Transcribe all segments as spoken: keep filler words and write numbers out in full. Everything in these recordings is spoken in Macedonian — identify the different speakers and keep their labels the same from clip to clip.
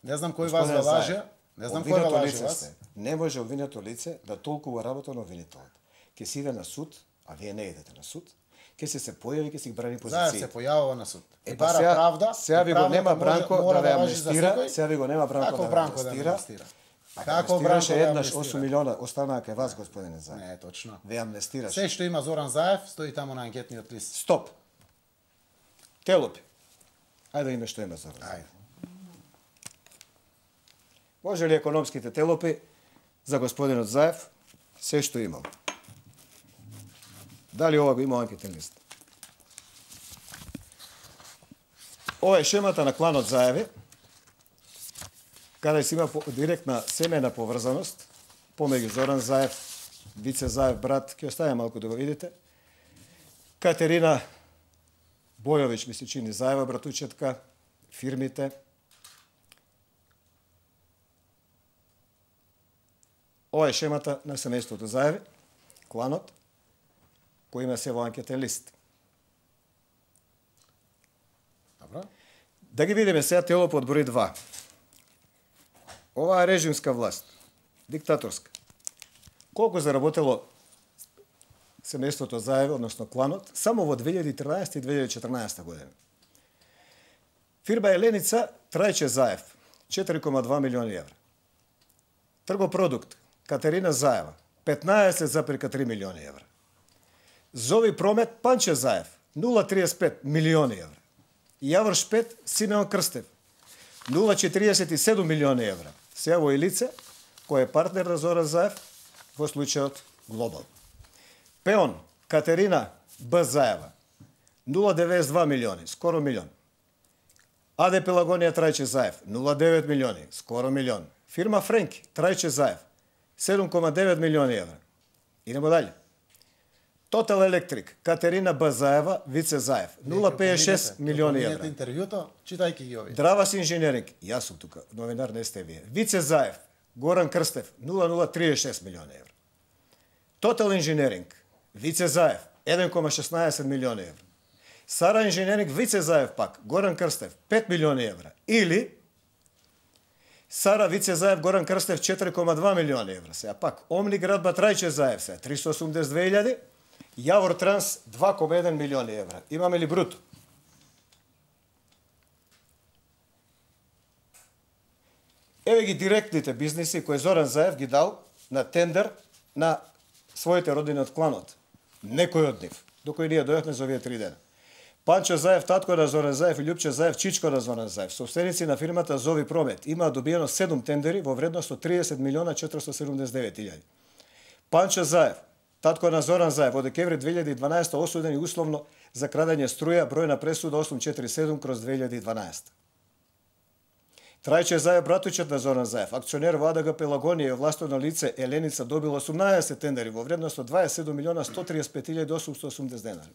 Speaker 1: Не знам кој вас го лаже, не знам кој го лаже вас.
Speaker 2: Не може обвинето лице да толкова работа на обвинителот. Ке си иде на суд, а вие не идете на суд, ке се се појави, ке си брани позиции.
Speaker 1: Заев се појавува на суд.
Speaker 2: Е, па сега, правда, сега ви го нема Бранко да ве амнестира, сега ви го нема Бранко да ве амнестира. Како Бранко еднаш осум милиона останаа кај вас, господине Заев.
Speaker 1: Не, точно.
Speaker 2: Ве амнестираш.
Speaker 1: Се што има Зоран Заев стои таму на анкетниот лист.
Speaker 2: Стоп. Телопи. Ајде да име што има Зоран Заев. Може ли економските телопи за господинот Заев се што имал? Дали ова го има анкетен лист? Ова е шемата на кланот Заеви, каде си има директна семена поврзаност помеѓу Зоран Заев, Вице Заев брат, ќе оставя малку да го видите. Катерина Бојовиќ ми се чини Заева братучетка, фирмите. Ова е шемата на семејството Заеви, кланот, кој има се во анкетен лист.
Speaker 1: Добро.
Speaker 2: Да ги видиме сега телопот од број два. Ова е режимска власт, диктаторска. Колку заработело семејството Заеви, односно кланот, само во две илјади и тринаесетта и две илјади и четрнаесетта година. Фирма Еленица Трајче Заев, четири кома два милиони евра. Тргопродукт Катерина Заева, петнаесет запирка три милиони евра. Зови Промет Панче Заев, нула триесет и пет милиони евра. Јавор Шпет Симеон Крстев, нула четириесет и седум милиони евра. Сега во лице, кој е партнер на Зоран Заев во случајот Глобал. Пеон Катерина Б. Заева, нула деветдесет и два милиони, скоро милион. АД Пелагонија Трајче Заев, нула девет милиони, скоро милион. Фирма Френки Трајче Заев, седум кома девет милиони евра. Идемо дале. Тотал Електрик Катерина Б. Заева, Вице Заев, нула педесет и шест милиони евра.
Speaker 1: Интервјуто, читајќи ги овие.
Speaker 2: Дравас инженеринг, јас сум тука, новинар не сте вие. Вице Заев, Горан Крстев, нула нула триесет и шест милиони евра. Тотал инженеринг, Вице Заев, еден кома шеснаесет милиони евра. Сара инженеринг, Вице Заев пак, Горан Крстев, пет милиони евра. Или Сара Вице Заев, Горан Крстев, четири кома два милиони евра. Сега пак, Омни Градба Трајче Заев, сега триста осумдесет и две илјади. Јавор Транс, два кома еден милиони евра. Имаме ли бруто? Еве ги директните бизниси кои Зоран Заев ги дал на тендер на своите родини од кланот. Некој од нив, докој ние дојдовме за овие три дена. Панчо Заев, татко на Зоран Заев и Љупче Заев, чичко на Зоран Заев, собственици на фирмата Зови Промет, имаа добиено седум тендери во вредност од триесет милиона четиристотини седумдесет и девет илјади. Панчо Заев, татко на Зоран Заев, во декември две илјади и дванаесетта осуден и условно за крадење струја, бројна пресуда осум четири седум кроз две илјади и дванаесетта. Трајче Заев, братучет на Зоран Заев, акционер во АДГ Пелагонија и овластено лице Еленица добил осумнаесет тендери во вредност од дваесет и седум милиона сто триесет и пет илјади осумстотини и осумдесет денари.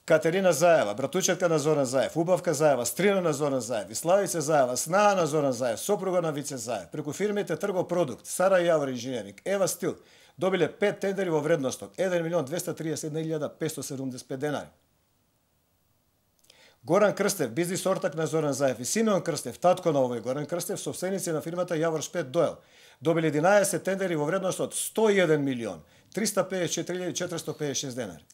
Speaker 2: Катерина Заева, братучетка на Зоран Заев, Убавка Заева, стрина на Зоран Заев, Славица Заева, снаа на Зоран Заев, сопруга на Вице Заев, преку фирмите Тргопродукт, Сара Јавор инженеринг, Ева Стил, добиле пет тендери во вредност од еден милион двесте триесет и една илјада петстотини седумдесет и пет денари. Горан Крстев, бизнис ортак на Зоран Заев и Симеон Крстев, татко на овој Горан Крстев, собственици на фирмата Јавор Шпет Доел, добили единаесет тендери во вредност од сто и еден милион триста педесет и четири илјади четиристотини педесет и шест денари.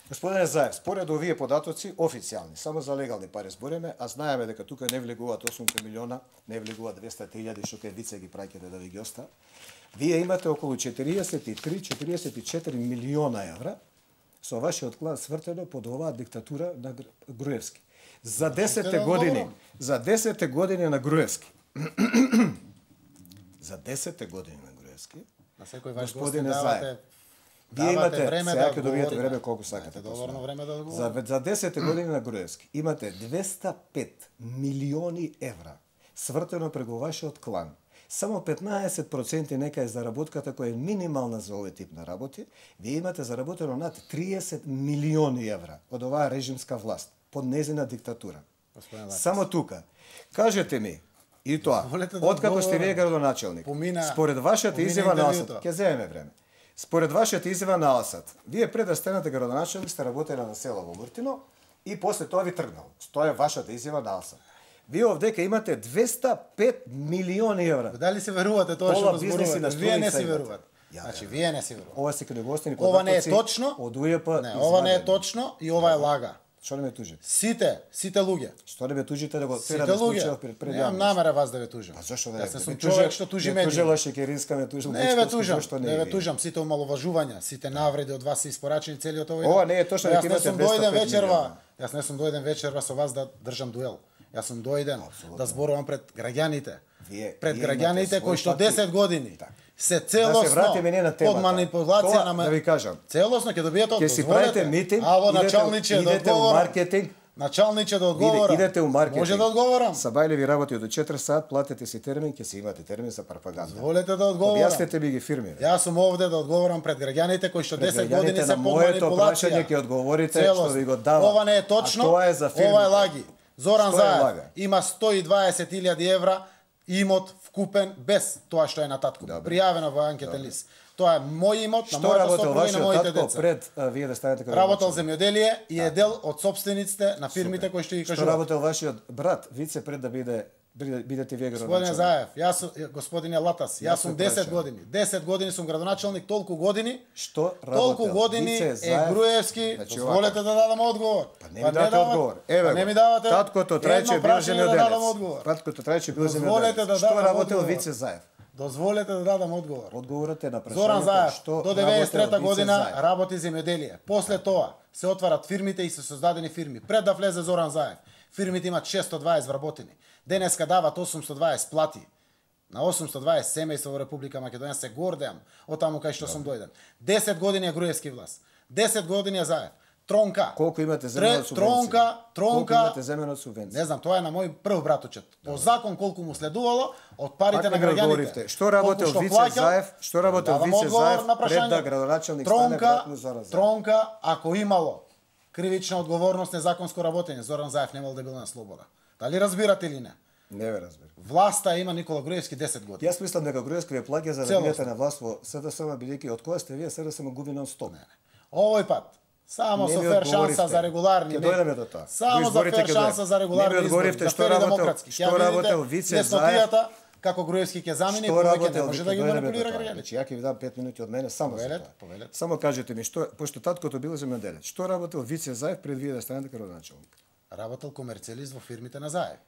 Speaker 2: Господине Заев, според овие податоци официјални, само за легални пари збориме, а знаеме дека тука не влегуваат осум милиона, не влегуваат двесте илјади што кај Вице ги праќате да ви ги оста. Вие имате околу четириесет и три четириесет и четири милиона евра со вашиот клан свртено под оваа диктатура на Груевски. За десетте години, за десетте години на Груевски. За десетте години на Груевски.
Speaker 1: На секој ваш гостин давате
Speaker 2: Вие имате,
Speaker 1: време
Speaker 2: сега
Speaker 1: да
Speaker 2: ќе добиете време колку сакате.
Speaker 1: Доволно време да
Speaker 2: за, за десет години на Груевски имате двесте и пет милиони евра свртено преку вашиот клан. Само петнаесет проценти нека е заработката која е минимална за овој тип на работи. Вие имате заработено над триесет милиони евра од оваа режимска власт под незина диктатура. Само тука. Кажете ми, и тоа, откако сте вие градоначелник, според вашата изјава на осад, ќе земеме време. Според вашата изјава на Алсат, вие пред да станете градоначелник сте работеле на село во Муртино и после тоа ви тргнал. Тоа е вашата изјава на Алсат. Вие овдека имате двеста пет милиони евра.
Speaker 1: Дали се верувате тоа што го зборувате? Вие не си верувате. Значи, вие не си верувате.
Speaker 2: Ова се книгостени
Speaker 1: ова не е точно.
Speaker 2: Од УЈП.
Speaker 1: Не, ова не е точно и ова е лага.
Speaker 2: Што не ме тужите?
Speaker 1: Сите, сите луѓе.
Speaker 2: Што не ме тужите да го
Speaker 1: Сите
Speaker 2: терам
Speaker 1: луѓе.
Speaker 2: пред пред
Speaker 1: Немам намера вас да ве тужам.
Speaker 2: Па зашо да?
Speaker 1: Јас не сум човек што тужи мене.
Speaker 2: Тужела Шекеринска, ме тужил.
Speaker 1: Не ве тужам, не ве тужам, сите омаловажувања, сите навреди од вас се испорачени целиот овој.
Speaker 2: Ова не е точно,
Speaker 1: јас не
Speaker 2: имате
Speaker 1: сум
Speaker 2: двеста
Speaker 1: дојден
Speaker 2: пет
Speaker 1: вечерва. Јас не сум дојден вечерва со вас да држам дуел. Јас сум дојден да зборувам пред граѓаните.
Speaker 2: Вие,
Speaker 1: пред
Speaker 2: вие
Speaker 1: граѓаните кои што десет години
Speaker 2: так.
Speaker 1: се целосно
Speaker 2: да се вратиме не на темата.
Speaker 1: под манипулација
Speaker 2: Тоа,
Speaker 1: на
Speaker 2: да ви кажам.
Speaker 1: Целосно ќе добиете
Speaker 2: Ќе си правите митинг,
Speaker 1: ало
Speaker 2: идете,
Speaker 1: началниче да
Speaker 2: идете у
Speaker 1: одговорам.
Speaker 2: маркетинг.
Speaker 1: Началниче да одговорам.
Speaker 2: Идете у маркетинг.
Speaker 1: Може да одговорам.
Speaker 2: Сабајле ви работи до четири сат, платете си термин, ќе си имате термин за пропаганда.
Speaker 1: Волете да одговорам.
Speaker 2: Објаснете ми ги фирми.
Speaker 1: Јас сум овде да одговорам пред граѓаните кои што десет години се под
Speaker 2: моето
Speaker 1: манипулација.
Speaker 2: прашање ќе одговорите што ви го давам.
Speaker 1: Ова не е точно.
Speaker 2: Тоа е за фирмите.
Speaker 1: Ова е лаги. Зоран
Speaker 2: Што е
Speaker 1: Заев
Speaker 2: лага?
Speaker 1: има сто и дваесет илјади евра имот вкупен без тоа што е на татко. Пријавено во анкетен лист. Тоа е мој имот, на мојата сопруга и на моите деца.
Speaker 2: Пред а, вие да станете како
Speaker 1: работел земјоделие и е дел од собствениците на фирмите кои што ги кажуват.
Speaker 2: Што работел вашиот брат Вице пред да биде бидете вие градоначелник?
Speaker 1: Господине Заев, јас господине Латас, јас сум десет години. десет години сум градоначелник, толку години.
Speaker 2: Што работел?
Speaker 1: Толку години е Груевски. Дозволете да дадам одговор.
Speaker 2: Па не ми дадете одговор. Еве,
Speaker 1: не ми давате.
Speaker 2: Таткото Трајче бил земјоделец. Таткото Трајче бил земјоделец. Што работел Вице Заев?
Speaker 1: Дозволете да дадам одговор.
Speaker 2: Одговорете на прашањето.
Speaker 1: Зоран Заев
Speaker 2: што
Speaker 1: до деветдесет и трета година работи земјоделие. После тоа се отварат фирмите и се создадени фирми. Пред да влезе Зоран Заев, фирмите имат шестстотини и дваесет вработени. Денеска дават осумстотини и дваесет плати. На осумстотини и дваесет семејства во Република Македонија се гордеам од таму кај што сум дојден. десет години е Груевски власт. десет години е Заев. Тронка.
Speaker 2: Колку имате земјана од субвенција?
Speaker 1: Тронка, тронка.
Speaker 2: Колку имате земјана од субвенција?
Speaker 1: Не знам, тоа е на мој прв браточет. По закон колку му следувало од парите на граѓаните.
Speaker 2: Што работел Вице Заев? Што работел Вице Заев пред да градоначелник стане братно Зоран Заев?
Speaker 1: Тронка, ако имало кривична одговорност, незаконско работење, Зоран Заев немал да бил на слобода. Дали разбирате или не?
Speaker 2: Не ве разбирам.
Speaker 1: Власта има Никола Груевски десет години.
Speaker 2: Јас мислам дека Груевски ве плаќа за да бидете на власт во СДСМ, бидејќи од кога сте вие СДСМ губи нон стоп.
Speaker 1: Овој пат само со фер шанса за регуларни.
Speaker 2: Ќе дојдеме до тоа.
Speaker 1: Само за фер шанса за регуларни избори.
Speaker 2: Што работел? Што работел Вице Заев?
Speaker 1: Како Груевски ќе замени,
Speaker 2: повеќе
Speaker 1: не може да ги манипулира граѓаните.
Speaker 2: Значи, ја ќе ви дам пет минути од мене само за тоа. Само кажете ми што, пошто таткото бил земјоделец, што работел Вице Заев пред вие да станете градоначелник?
Speaker 1: Работел комерцијалист во фирмите на Заев.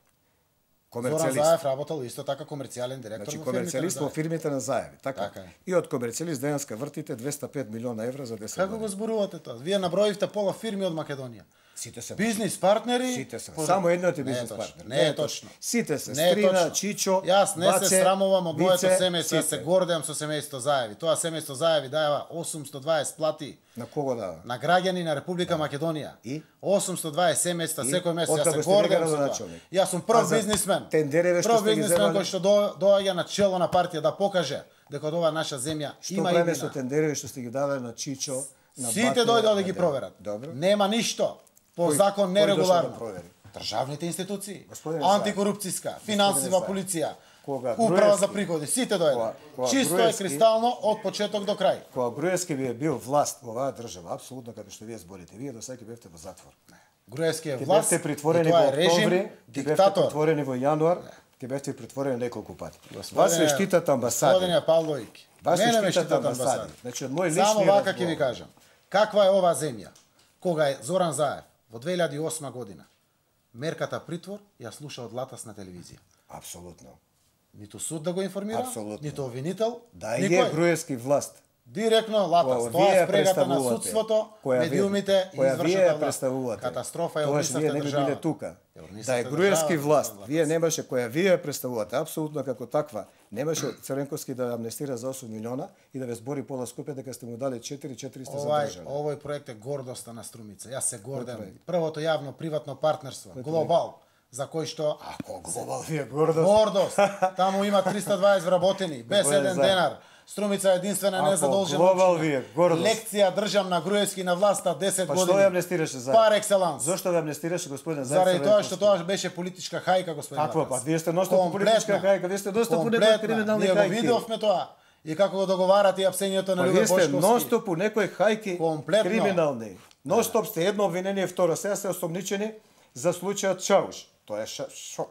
Speaker 2: Комерцијалист.
Speaker 1: Зоран Заев работел исто така комерцијален директор
Speaker 2: значи,
Speaker 1: во фирмите на Заев.
Speaker 2: Комерцијалист во фирмите на Заев, така?
Speaker 1: така е.
Speaker 2: И од комерцијалист денеска вртите двеста и пет милиона евра за десет
Speaker 1: Како
Speaker 2: години.
Speaker 1: го зборувате тоа? Вие наброивте пола фирми од Македонија.
Speaker 2: Сите се
Speaker 1: Бизнис партнери.
Speaker 2: Сите се. Само едниот е бизнис партнер.
Speaker 1: Не е точно.
Speaker 2: Сите се.
Speaker 1: Не е
Speaker 2: Стрина,
Speaker 1: точно.
Speaker 2: Чичо,
Speaker 1: Јас не
Speaker 2: Баце,
Speaker 1: се срамувам од моето
Speaker 2: Вице,
Speaker 1: семејство, јас се
Speaker 2: сите.
Speaker 1: гордеам со семејство Заеви. Тоа семејство Заеви дајава осумстотини и дваесет плати
Speaker 2: На кого дава?
Speaker 1: на граѓани на Република Македонија.
Speaker 2: И?
Speaker 1: осумстотини и дваесет семејства
Speaker 2: И?
Speaker 1: секој месец. Јас
Speaker 2: Откако
Speaker 1: се
Speaker 2: сте вие
Speaker 1: гордеам со тоа.
Speaker 2: градоначелник?
Speaker 1: Јас сум
Speaker 2: А
Speaker 1: прв
Speaker 2: за
Speaker 1: бизнисмен.
Speaker 2: тендереве што
Speaker 1: Прв
Speaker 2: сте ги
Speaker 1: бизнисмен
Speaker 2: земали?
Speaker 1: кој што до- доаѓа на чело на партија да покаже дека од ова наша земја
Speaker 2: Што
Speaker 1: има
Speaker 2: правиме со
Speaker 1: имена.
Speaker 2: тендереве што сте ги давале на Чичо, на
Speaker 1: Сите
Speaker 2: Бате,
Speaker 1: дојдоа да ги
Speaker 2: на-
Speaker 1: проверат.
Speaker 2: Добро.
Speaker 1: Нема ништо по
Speaker 2: Кој-
Speaker 1: закон
Speaker 2: кој
Speaker 1: нерегуларно.
Speaker 2: дошол да провери?
Speaker 1: Државните институции,
Speaker 2: Господине Заев.
Speaker 1: антикорупцијска, финансива
Speaker 2: Заев.
Speaker 1: полиција,
Speaker 2: Кога
Speaker 1: управа
Speaker 2: Груевски-
Speaker 1: за приходи, сите дојде.
Speaker 2: Кога- кога
Speaker 1: Чисто е
Speaker 2: Груевски-
Speaker 1: кристално од почеток до крај.
Speaker 2: Кога Груевски ви е бил власт во оваа држава, апсолутно како што вие зборите, вие до сега ќе бевте во затвор.
Speaker 1: Груевски е
Speaker 2: Ќе
Speaker 1: власт,
Speaker 2: бевте притворени
Speaker 1: и тоа
Speaker 2: во
Speaker 1: е режим,
Speaker 2: октомври, ќе бевте
Speaker 1: диктатор.
Speaker 2: притворени во јануар, ќе бевте притворени неколку пати.
Speaker 1: Господине-
Speaker 2: Вас ве штитат амбасади.
Speaker 1: Господине Павловик,
Speaker 2: Вас
Speaker 1: мене
Speaker 2: ве
Speaker 1: ме
Speaker 2: штитат
Speaker 1: штитат
Speaker 2: амбасади.
Speaker 1: амбасади.
Speaker 2: Значи од мој
Speaker 1: Само
Speaker 2: лични
Speaker 1: вака ќе ви
Speaker 2: разговор.
Speaker 1: кажам. Каква е оваа земја? Кога е Зоран Заев во две илјади и осма година мерката притвор ја слуша од Латас на телевизија.
Speaker 2: Апсолутно.
Speaker 1: Ниту суд да го информира,
Speaker 2: Апсолутно.
Speaker 1: ниту обвинител,
Speaker 2: Да
Speaker 1: никој.
Speaker 2: е Груевски власт.
Speaker 1: Директно Латас,
Speaker 2: Која
Speaker 1: тоа
Speaker 2: вие
Speaker 1: е спрегата на
Speaker 2: представувате,
Speaker 1: судството,
Speaker 2: која вие-
Speaker 1: медиумите и
Speaker 2: која вие
Speaker 1: извршната власт.
Speaker 2: представувате.
Speaker 1: Катастрофа е
Speaker 2: Тогаш вие
Speaker 1: урнисавте
Speaker 2: не би
Speaker 1: држава.
Speaker 2: биле тука.
Speaker 1: Е, урнисавте
Speaker 2: Да е Груевски
Speaker 1: држава,
Speaker 2: власт,
Speaker 1: Латас.
Speaker 2: вие немаше која вие представувате, апсолутно како таква. Немаше Цренковски да амнестира за осум милиона и да ве збори пола скупе дека сте му дали четири четиристо за
Speaker 1: Овај,
Speaker 2: држава.
Speaker 1: овој проект е гордоста на Струмица. Јас се гордам. Првото јавно приватно партнерство, Глобал, за кој што
Speaker 2: Ако глобал вие гордост.
Speaker 1: гордост. Таму има триста и дваесет вработени, без
Speaker 2: Господине
Speaker 1: еден
Speaker 2: Заев.
Speaker 1: денар. Струмица е единствена
Speaker 2: Ако
Speaker 1: незадолжена
Speaker 2: глобал
Speaker 1: општина.
Speaker 2: вие гордост.
Speaker 1: Лекција држам на Груевски на власта десет
Speaker 2: Па
Speaker 1: години.
Speaker 2: што ја амнестираше за?
Speaker 1: Пар екселанс.
Speaker 2: Зошто ја амнестираше господин Заев?
Speaker 1: Заради тоа што тоа беше политичка хајка, господин
Speaker 2: Какво?
Speaker 1: Латас.
Speaker 2: Па вие сте носно политичка
Speaker 1: Комплетна.
Speaker 2: хајка, вие сте доста по
Speaker 1: Комплетна.
Speaker 2: криминални
Speaker 1: Ние го
Speaker 2: хајки.
Speaker 1: видовме тоа. и како го договарате и апсењето на
Speaker 2: Па
Speaker 1: Љубе
Speaker 2: вие сте
Speaker 1: Бошковски.
Speaker 2: нон-стоп у некои хајки
Speaker 1: Комплетно.
Speaker 2: криминални. Нон-стоп сте едно обвинение, второ, сега сте осомничени за случајот Чауш. Тоа е ша, шок.